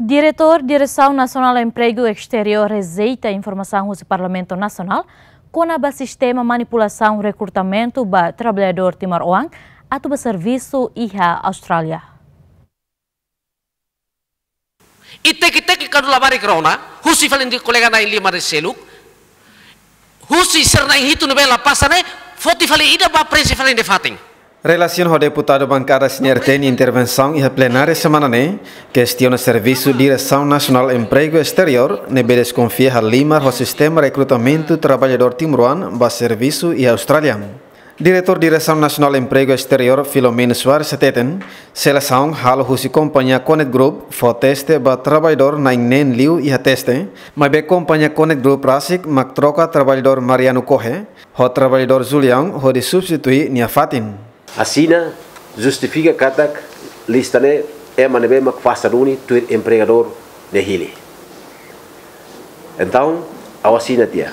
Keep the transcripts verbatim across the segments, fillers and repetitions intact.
Diretór Diresaun Nasionál Empregu Esteriór rejeita informasaun husi Parlamentu Nasionál kona-ba sistema manipulasaun rekrutamentu ba traballadór timoroan atu ba servisu iha Austrália. I teki-teki kuandu labarik rona, husi fali nia kolega na'in lima ne'e seluk, husi sira na'in hitu ne'ebé la pasa ne'e, foti fali ida ba prenxe fali nia fatin. Relasiona ho deputadu bankada C N R T nia intervensaun iha plenária semana ne'e, kestiona servisu Diresaun Nasionál Empregu Esteriór ne'ebé deskonfia halimar ho sistema rekrutamentu traballadór timoroan ba servisu iha Austrália. Diretór Diresaun Nasionál Empregu Esteriór, Filomeno Soares hateten, selesaun halo husi kompañia Connect Group fó teste ba traballadór na'in neen liu iha teste, maibé kompañia Connect Group rasik mak troka traballadór Mariano Cohe ho traballadór Julião hodi substitui nia fatin. Asina justifika katak lista ne'e ema ne'ebé mak pasa duni tuir empregadór nia hili. Entaun, ha'u asina tiha.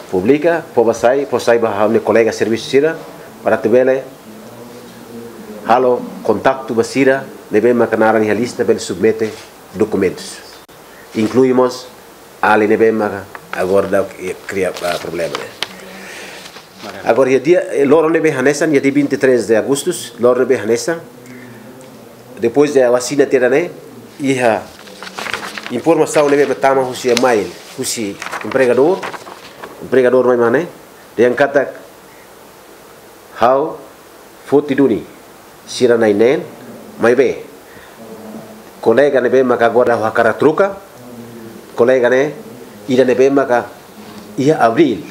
Publika, fó ba sai, fó sai ba ha'u-nia kolega servisu sira, para atu bele halo kontaktu ba sira ne'ebé maka naran iha lista bele submete dokumentus. Inklui mós alin ne'ebé maka agora daudaun kria, ah, problema ne'e. Agora, iha dia, eh, loron ne'ebé hanesan, iha dia vinte e três de agosto, loron ne'ebé hanesan, depois de ha'u asina tiha ne'e, iha informasaun ne'ebé tama husi email, husi empregadór, empregadór mai mane, dehan katak ha'u foti duni sira na'in neen, maibé kolega ne'ebé maka agora ha'u hakarak troka, kolega ne'e ida ne'ebé maka iha abríl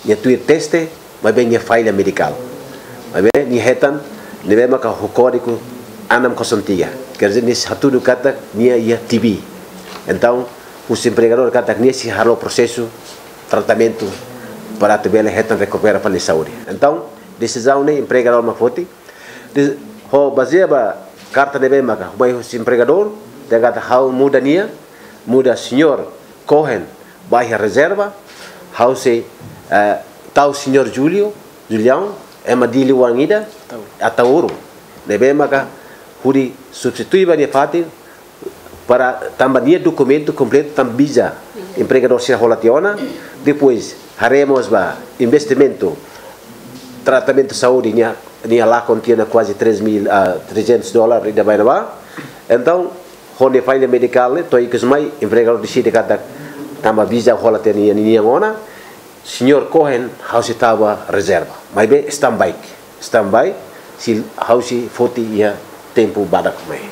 nia tuir teste, maibé nia falla medikál. Maibé nia hetan ne'ebé maka ho kódigu enam kosong tiga. Quer dizer, nia sei hatudu katak nia iha T B. Entaun, husi empregadór katak nia sei halo prosesu tratamentu para atu bele hetan rekupera fali saúde. Entaun, desizaun ne'e empregadór mak foti. Des-, ho bazeia ba karta ne'ebé maka mai husi empregadór, dehan katak ha'u muda nia, muda señór Cohen ba iha rezerva, ha'u sei, eh, tau señór Julio, Julião, ema Dili Wangida, Ataúro, ne'ebé maka hodi substitui ba nia fatin, para tanba nia dokumentu kompletu tanba visa empregadór sira hola tiha ona. Depois haree mós ba investimentu tratamentu saúde nia, nia lakon tiha ona kuaze três mil, ah, trezentos dólar ida ba ne'ebá. Entaun, ho nia falla medikál ne'e to'o ikus mai empregadór deside katak tanba visa hola tiha ona nia, nia ona. Señór Cohen ha'u sei tau ba rezerva. Maibé standby. Standby, sei ha'u sei foti iha tempu badak mai.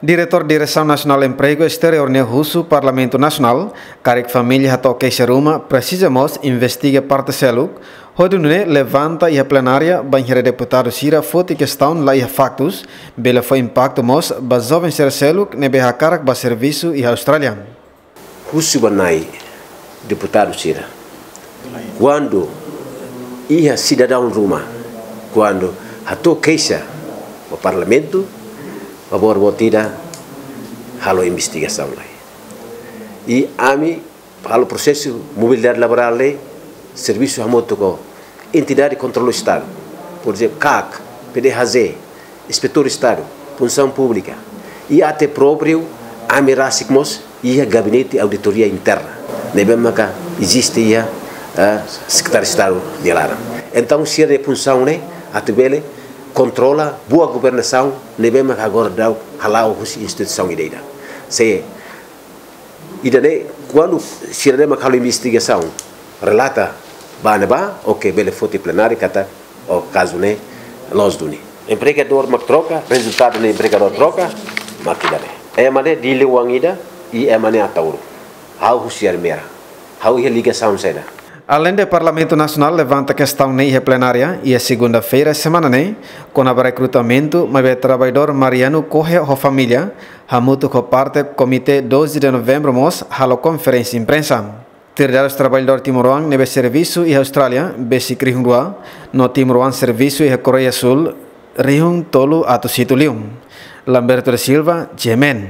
Diretór Diresaun Nasionál Empregu Esteriór ne'e husu Parlamentu Nasionál, karik família hato'o keixa ruma, presiza mós investiga parte seluk, hodi nune'e levanta iha plenária, bainhira deputadu sira foti kestaun la iha faktus, bele fó impaktu mós ba joven sira seluk ne'ebé hakarak ba servisu iha Austrália. Husu ba nai deputadu sira. Kuandu iha sidadaun ruma, kuandu hato'o keixa ba Parlamentu, favór boot ida halo investigasaun lai. I ami halo prosesu mobilidade laborál ne'e, servisu hamutuk ho entidade kontrolu Estadu, por ezemplu, CAC, PDHJ, Inspetór Estadu, Funsaun Públika, i até própriu ami rasik mós iha Gabinete Auditoria Interna, ne'ebé maka eziste iha, eh, Sekretáriu Estadu nia laran. Entaun, sira-nia funsaun ne'e atu bele kontrola boa governasaun ne'ebé maka agora daudaun hala'o husi instituisaun ida-idak. Se ida-ne'e, kuandu sira-ne'e mak halo investigasaun, relata ba ne'ebá, oke, bele foti plenária katak, o kazu ne'e loos duni. Empregadór mak troka, rezultadu ne'e empregadór troka, mak ida-ne'e. Ema ne'e Dili Wangida, i ema ne'e Ataúro. Ha'u husi Ermera. Ha'u iha ligasaun saida? Aleinde Parlamentu Nasionál levanta kestaun ne'e iha plenária, iha segunda-feira semana ne'e, kona-ba rekrutamentu, maibé traballadór Mariano Cohen ho família, hamutuk ho parte Komité doze de Novembro mós halo konferénsia imprensa. Tuir dadus traballadór timoroan ne'ebé servisu iha Austrália, besik rihun rua, no timoroan servisu iha Koreia Súl, rihun tolu atus hitu liu. Lamberto da Silva, G M N.